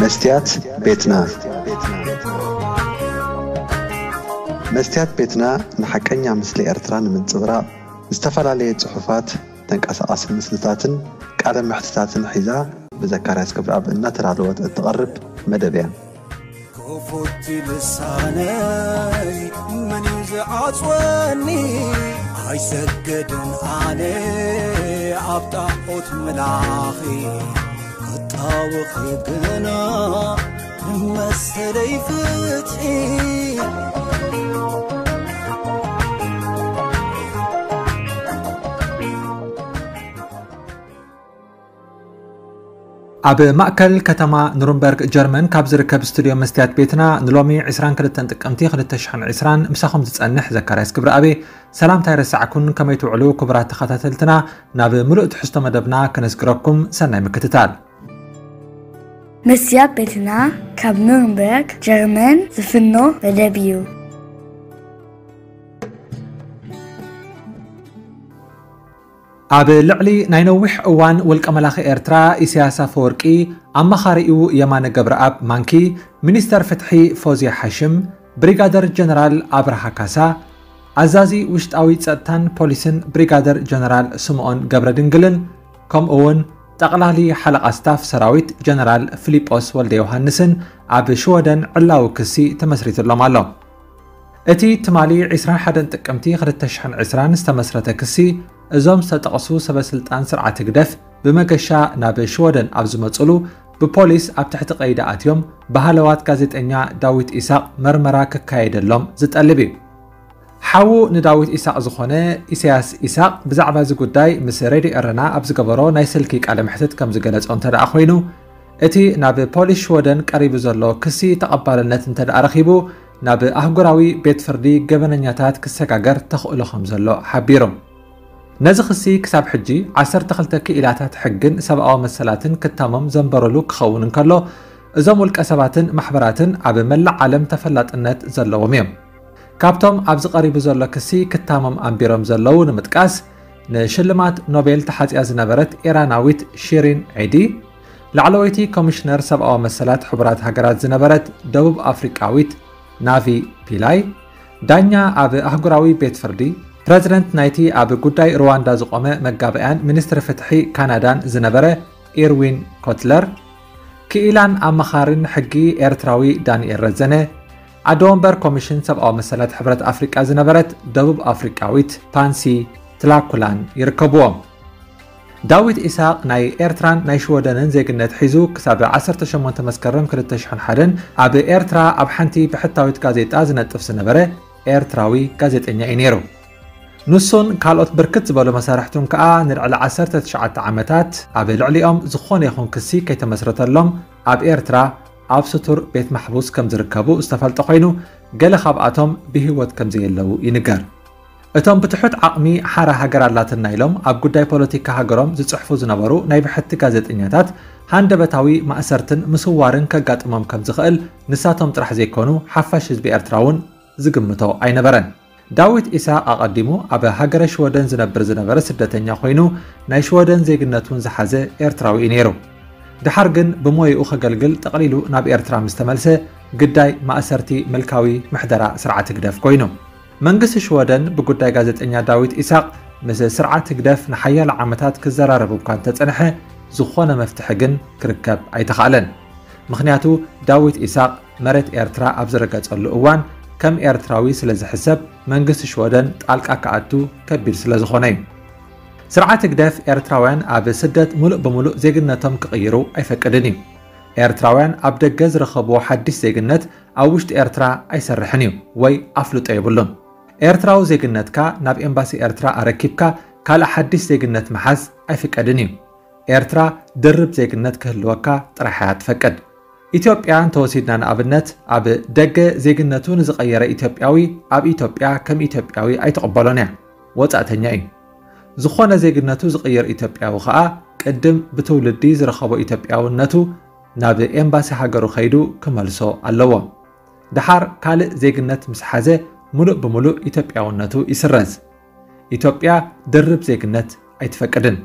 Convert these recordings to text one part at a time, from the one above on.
መስትያት ቤትና። መስትያት ቤትና ንሓቀኛ ምስሊ ኤርትራ ንምንጽብራቕ ዝተፈላለየ ጽሑፋት፣ ተንቀሳቓሲ ምስልታትን ቃለ መሕትታትን ሒዛ ብዘካርያስ ክብረኣብ እናተዳለወት እትቐርብ መደብ እያ። ክፉት ልሳነይ መን እዩ ዝዓጽወኒ? ኣይሰግድን ኣነ ኣብ ጣዖት ምላኺ፣ ክጣወኺ ግና ንመሰለይ ፍትሒ። ኣብ ማእከል ከተማ ኑርንበርግ ጀርመን ካብ ዝርከብ ስቱድዮ መስትያት ቤትና ንሎሚ ዕስራን ክልተን ጥቅምቲ ክልተ ሽሕን ዕስራን ምሳኹም ዝጸንሕ ዘካርያስ ክብረኣብ እየ። ሰላምታ ኣይረሳዕኩን፣ ከመይ ትውዕሉ ክቡራት ተኸታተልትና? ናብ ምሉእ ትሕዝቶ መደብና ከነስግረኩም፣ ሰናይ ምክትታል። መስትያት ቤትና ካብ ኑርንበርግ ጀርመን ዝፍኖ መደብ እዩ። ኣብ ልዕሊ ናይ ነዊሕ እዋን ውልቀ መላኺ ኤርትራ ኢሳያስ ኣፈወርቂ፣ ኣማኻሪኡ የማነ ገብረኣብ ማንኪ፣ ሚኒስተር ፍትሒ ፎዝያ ሓሽም፣ ብሪጋደር ጀነራል ኣብርሃ ካሳ፣ ኣዛዚ ውሽጣዊ ጸጥታን ፖሊስን ብሪጋደር ጀነራል ስምኦን ገብረድንግልን፣ ከምኡ እውን ጠቕላሊ ሓለቓ ስታፍ ሰራዊት ጀነራል ፊሊጶስ ወልደ ዮሃንስን ኣብ ሽወደን ዕላዊ ክሲ ተመስሪትሎም ኣሎ። እቲ ትማሊ ዕስራን ሓደን ጥቅምቲ ክልተ ሽሕን ዕስራን ዝተመስረተ ክሲ፣ እዞም ዝተጠቕሱ ሰበ ስልጣን ስርዓት ህግደፍ ብመገሻ ናብ ሽወደን ኣብ ዝመጽሉ፣ ብፖሊስ ኣብ ትሕቲ ቀይዲ ኣትዮም ብሃለዋት ጋዜጠኛ ዳዊት ኢሳቕ መርመራ ክካየደሎም ዝጠልብ እዩ። ሓዉ ንዳዊት ኢሳቕ ዝኾነ ኢሳያስ ኢሳቕ ብዛዕባ እዚ ጉዳይ ምስ ሬድዮ ኤረና ኣብ ዝገበሮ ናይ ስልኪ ቃለ መሕትት ከም ዝገለጾ እንተ ደኣ ኮይኑ፣ እቲ ናብ ፖሊስ ሽወደን ቀሪቡ ዘሎ ክሲ ተቐባልነት እንተ ደኣ ረኺቡ፣ ናብ ኣህጉራዊ ቤት ፍርዲ ገበነኛታት ክሰጋገር ተኽእሎ ከም ዘሎ ሓቢሩ። ነዚ ክሲ ክሳብ ሕጂ ዓሰርተ ክልተ ክኢላታት ሕግን ሰብኣዊ መሰላትን ክታሞም ዘንበረሉ ክኸውን እንከሎ፣ እዞም ውልቀ ሰባትን ማሕበራትን ኣብ መላእ ዓለም ተፈላጥነት ዘለዎም እዮም። ካብቶም ኣብዚ ቀሪቡ ዘሎ ክሲ ክታሞም ኣንቢሮም ዘለዉ ንምጥቃስ፣ ንሽልማት ኖቤል ተሓጽያ ዝነበረት ኢራናዊት ሺሪን ዒዲ፣ ላዕለወይቲ ኮሚሽነር ሰብኣዊ መሰላት ሕቡራት ሃገራት ዝነበረት ደቡብ ኣፍሪቃዊት ናቪ ፒላይ፣ ዳኛ ኣብ ኣህጉራዊ ቤት ፍርዲ፣ ፕረዚደንት ናይቲ ኣብ ጉዳይ ሩዋንዳ ዝቖመ መጋበእያን ሚኒስትሪ ፍትሒ ካናዳን ዝነበረ ኢርዊን ኮትለር፣ ክኢላን ኣማኻርን ሕጊ ኤርትራዊ ዳንኤል ረዘነ፣ ኣደ ወንበር ኮሚሽን ሰብኣዊ መሰላት ሕብረት ኣፍሪቃ ዝነበረት ደቡብ ኣፍሪቃዊት ፓንሲ ትላኩላን ይርከብዎም። ዳዊት ኢሳቕ ናይ ኤርትራን ናይ ሽወደንን ዜግነት ሒዙ ክሳብ ዓሰርተ ሸሞንተ መስከረም ክልተ ሽሕን ሓደን ኣብ ኤርትራ ኣብ ሓንቲ ብሕታዊት ጋዜጣ ዝነጥፍ ዝነበረ ኤርትራዊ ጋዜጠኛ እዩ ነይሩ። ንሱን ካልኦት ብርክት ዝበሉ መሳርሕቱን ከኣ ንልዕሊ ዓሰርተ ትሽዓተ ዓመታት ኣብ ልዕሊኦም ዝኾነ ይኹን ክሲ ከይተመስረተሎም ኣብ ኤርትራ ኣብ ስቱር ቤት ማሕቡስ ከም ዝርከቡ ዝተፈልጠ ኮይኑ፣ ገለ ካብኣቶም ብህይወት ከም ዘየለዉ ይንገር። እቶም ብትሑት ዓቕሚ ሓራ ሃገር ኣላትና ኢሎም ኣብ ጉዳይ ፖለቲካ ሃገሮም ዝጽሕፉ ዝነበሩ ናይ ብሕቲ ጋዜጠኛታት ሃንደበታዊ ማእሰርትን ምስዋርን ከጋጥሞም ከም ዝኽእል ንሳቶም ጥራሕ ዘይኮኑ ሓፋሽ ህዝቢ ኤርትራ እውን ዝግምቶ ኣይነበረን። ዳዊት ኢሳቕ ኣቐዲሙ ኣብ ሃገረ ሽወደን ዝነብር ዝነበረ ስደተኛ ኮይኑ ናይ ሽወደን ዜግነት እውን ዝሓዘ ኤርትራዊ እዩ ነይሩ። ደሓር ግን ብሞይኡ ከገልግል ጠቕሊሉ ናብ ኤርትራ ምስ ተመልሰ ግዳይ ማእሰርቲ ምልካዊ ምሕደራ ስርዓት ህግደፍ ኮይኑ። መንግስቲ ሽወደን ብጉዳይ ጋዜጠኛ ዳዊት ኢሳቕ ምስ ስርዓት ህግደፍ ንሓያሎ ዓመታት ክዘራረብ እኳ እንተጸንሐ፣ ዝኾነ መፍትሒ ግን ክርከብ ኣይተኻእለን። ምኽንያቱ ዳዊት ኢሳቕ መሬት ኤርትራ ኣብ ዝረገጸሉ እዋን ከም ኤርትራዊ ስለ ዝሕሰብ መንግስቲ ሽወደን ጣልቃ ክኣቱ ከቢድ ስለ ዝኾነ እዩ። ስርዓት ህግደፍ ኤርትራውያን ኣብ ስደት ሙሉእ ብሙሉእ ዜግነቶም ክቕይሩ ኣይፈቅድን እዩ። ኤርትራውያን ኣብ ደገ ዝረኸብዎ ሓድሽ ዜግነት ኣብ ውሽጢ ኤርትራ ኣይሰርሕን እዩ ወይ ኣፍልጦ የብሉን። ኤርትራዊ ዜግነትካ ናብ ኤምባሲ ኤርትራ ኣረኪብካ ካልእ ሓድሽ ዜግነት ምሓዝ ኣይፍቀድን እዩ። ኤርትራ ድርብ ዜግነት ክህልወካ ጥራሕ እያ ትፈቅድ። ኢትዮጵያ እንተወሲድና ንኣብነት፣ ኣብ ደገ ዜግነቱ ንዝቐየረ ኢትዮጵያዊ ኣብ ኢትዮጵያ ከም ኢትዮጵያዊ ኣይትቕበሎን እያ። ወጻእተኛ እዩ። ዝኾነ ዜግነቱ ዝቕይር ኢትዮጵያዊ ኸኣ ቅድም ብትውልዲ ዝረኸቦ ኢትዮጵያውነቱ ናብ ኤምባሲ ሃገሩ ከይዱ ክመልሶ ኣለዎ። ደሓር ካልእ ዜግነት ምስ ሓዘ ሙሉእ ብሙሉእ ኢትዮጵያውነቱ ይስረዝ። ኢትዮጵያ ድርብ ዜግነት ኣይትፈቅድን።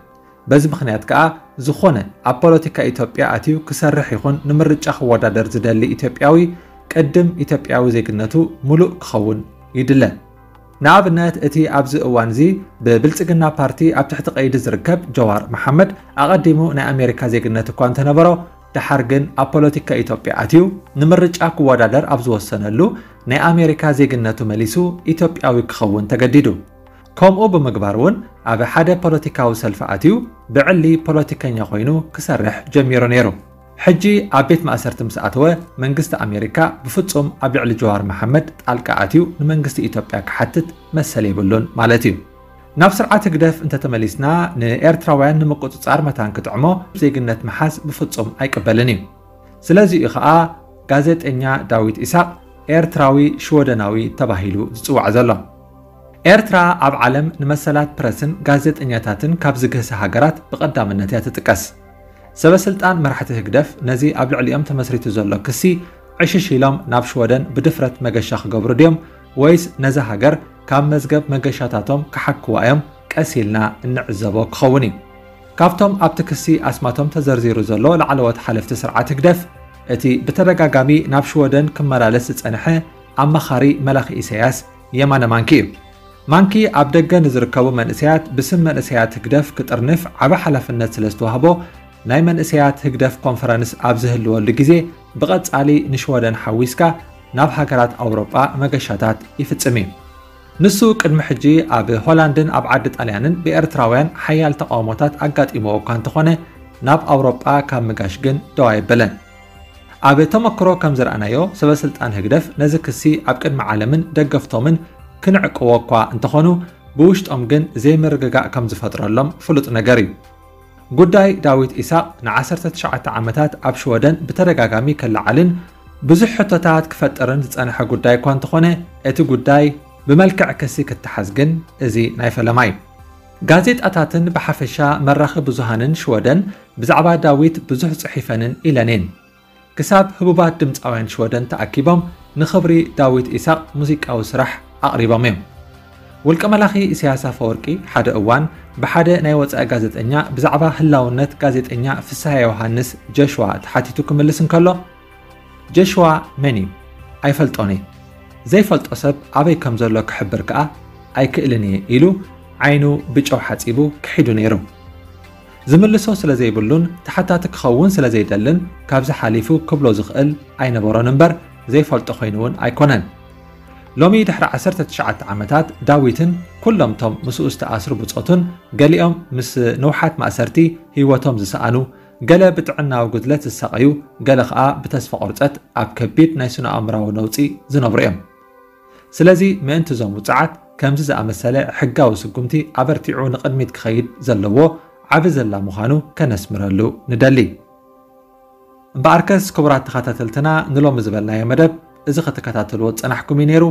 በዚ ምኽንያት ከኣ ዝኾነ ኣብ ፖለቲካ ኢትዮጵያ ኣትዩ ክሰርሕ ይኹን ንምርጫ ክወዳደር ዝደሊ ኢትዮጵያዊ ቅድም ኢትዮጵያዊ ዜግነቱ ምሉእ ክኸውን ይድለ። ንኣብነት እቲ ኣብዚ እዋን እዚ ብብልጽግና ፓርቲ ኣብ ትሕቲ ቀይዲ ዝርከብ ጀዋር መሓመድ ኣቐዲሙ ናይ ኣሜሪካ ዜግነት እኳ እንተነበሮ፣ ደሓር ግን ኣብ ፖለቲካ ኢትዮጵያ ኣትዩ ንምርጫ ክወዳደር ኣብ ዝወሰነሉ ናይ ኣሜሪካ ዜግነቱ መሊሱ ኢትዮጵያዊ ክኸውን ተገዲዱ። ከምኡ ብምግባር እውን ኣብ ሓደ ፖለቲካዊ ሰልፊ ኣትዩ ብዕሊ ፖለቲከኛ ኮይኑ ክሰርሕ ጀሚሩ ነይሩ። ሕጂ ኣብ ቤት ማእሰርቲ ምስ ኣተወ መንግስቲ ኣሜሪካ ብፍጹም ኣብ ልዕሊ ጀዋር መሓመድ ጣልቃ ኣትዩ ንመንግስቲ ኢትዮጵያ ክሓትት መሰል የብሉን ማለት እዩ። ናብ ስርዓት ህግደፍ እንተተመሊስና ንኤርትራውያን ንምቁጽጻር መታን ክጥዕሞ ዜግነት ምሓዝ ብፍጹም ኣይቅበልን እዩ። ስለዚ እዩ ኸኣ ጋዜጠኛ ዳዊት ኢሳቕ ኤርትራዊ ሽወደናዊ ተባሂሉ ዝጽዋዕ ዘሎ። ኤርትራ ኣብ ዓለም ንመሰላት ፕረስን ጋዜጠኛታትን ካብ ዝግህሳ ሃገራት ብቐዳምነት እያ ትጥቀስ። ሰበ ስልጣን መራሕቲ ህግደፍ ነዚ ኣብ ልዕሊኦም ተመስሪቱ ዘሎ ክሲ ዕሽሽ ኢሎም ናብ ሽወደን ብድፍረት መገሻ ክገብሩ ድዮም ወይስ ነዛ ሃገር ካብ መዝገብ መገሻታቶም ክሓክዋ እዮም ቀስ ኢልና እንዕዘቦ ክኸውን እዩ። ካብቶም ኣብቲ ክሲ ኣስማቶም ተዘርዚሩ ዘሎ ላዕለዎት ሓለፍቲ ስርዓት ህግደፍ እቲ ብተደጋጋሚ ናብ ሽወደን ክመላለስ ዝጸንሐ ኣማኻሪ መላኺ ኢሳያስ የማነ ማንኪ እዩ። ማንኪ ኣብ ደገ ንዝርከቡ መንእሰያት ብስም መንእሰያት ህግደፍ ክጥርንፍ ዓቢ ሓላፍነት ስለ ዝተዋህቦ ናይ መንእሰያት ህግደፍ ኮንፈረንስ ኣብ ዝህልወሉ ግዜ ብቐጻሊ ንሽወደን ሓዊስካ ናብ ሃገራት ኣውሮጳ መገሻታት ይፍጽም እዩ። ንሱ ቅድሚ ሕጂ ኣብ ሆላንድን ኣብ ዓዲ ጣልያንን ብኤርትራውያን ሓያል ተቓውሞታት ኣጋጢምዎ እኳ እንተኾነ ናብ ኣውሮጳ ካብ ምጋሽ ግን ደው ኣይበለን። ኣብ ተመክሮ ከም ዝረኣናዮ ሰበ ስልጣን ህግደፍ ነዚ ክሲ ኣብ ቅድሚ ዓለምን ደገፍቶምን ክንዕቅዎ እኳ እንተኾኑ ብውሽጦም ግን ዘይምርግጋእ ከም ዝፈጥረሎም ፍሉጥ ነገር እዩ። ጉዳይ ዳዊት ኢሳቕ ንዓሰርተ ትሽዓተ ዓመታት ኣብ ሽወደን ብተደጋጋሚ ከለዓልን ብዙሕ ሕቶታት ክፈጥርን ዝጸንሐ ጉዳይ እኳ እንተኾነ እቲ ጉዳይ ብመልክዕ ክሲ ክተሓዝ ግን እዚ ናይ ፈለማ እዩ። ጋዜጣታትን ብሓፈሻ መራኺ ብዙሃንን ሽወደን ብዛዕባ ዳዊት ብዙሕ ጽሒፈንን ኢለንን። ክሳብ ህቡባት ድምፃውያን ሽወደን ተኣኪቦም ንኽብሪ ዳዊት ኢሳቕ ሙዚቃዊ ስራሕ ኣቕሪቦም እዮም። ውልቀ መላኺ ኢሳያስ ኣፈወርቂ ሓደ እዋን ብሓደ ናይ ወፃኢ ጋዜጠኛ ብዛዕባ ህላውነት ጋዜጠኛ ፍስሃ ዮሃንስ ጀሽዋ ተሓቲቱ ክምልስ እንከሎ፣ ጀሽዋ መን እዩ? ኣይፈልጦን እየ። ዘይፈልጦ ሰብ ኣበይ ከም ዘሎ ክሕብር ከኣ ኣይክእልን እየ ኢሉ ዓይኑ ብጨው ሓጺቡ ክሒዱ ነይሩ። ዝምልሶ ስለ ዘይብሉን ተሓታቲ ክኸውን ስለ ዘይደልን ካብዚ ሓሊፉ ክብሎ ዝኽእል ኣይነበሮን እምበር ዘይፈልጦ ኮይኑ እውን ኣይኮነን። ሎሚ ድሕሪ ዓሰርተ ትሽዓተ ዓመታት ዳዊትን ኩሎም ቶም ምስኡ ዝተኣስሩ ብጾቱን ገሊኦም ምስ ንውሓት ማእሰርቲ ህይወቶም ዝሰኣኑ፣ ገለ ብጥዕናዊ ጉድለት ዝሳቐዩ፣ ገለ ኸኣ ብተስፋ ቁርጸት ኣብ ከቢድ ናይ ስነ ኣእምራዊ ነውጺ ዝነብሩ እዮም። ስለዚ ምእንቲ እዞም ውጽዓት ከምዚ ዝኣመሰለ ሕጋዊ ስጉምቲ ኣበርቲዑ ንቕድሚት ክኸይድ ዘለዎ ዓቢ ዘላ ምዃኑ ከነስምረሉ ንደሊ። እምበኣርከስ ክቡራት ተኸታተልትና ንሎሚ ዝበልናዮ መደብ እዚ ክትከታተልዎ ዝጸናሕኩም እዩ ነይሩ።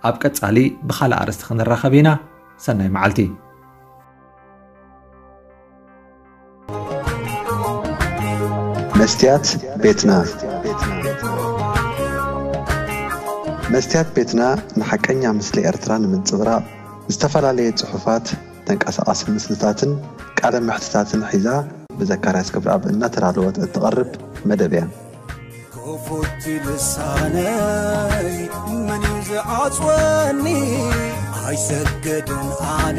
ኣብ ቀጻሊ ብኻልእ ኣርእስቲ ክንራኸብ ኢና። ሰናይ መዓልቲ። መስትያት ቤትና። መስትያት ቤትና ንሓቀኛ ምስሊ ኤርትራ ንምንጽብራቕ ዝተፈላለየ ጽሑፋት፣ ተንቀሳቓሲ ምስልታትን ቃለ መሕትታትን ሒዛ ብዘካርያስ ክብረኣብ እናተዳለወት እትቐርብ መደብ እያ። ክፉት ልሳነይ መን እዩ ዝዓጽወኒ? ኣይሰገድን ኣነ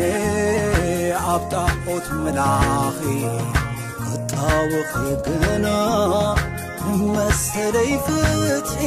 ኣብ ጣዖት ምላኺ ክጣወኺ ግና መሰለይ ፍትሒ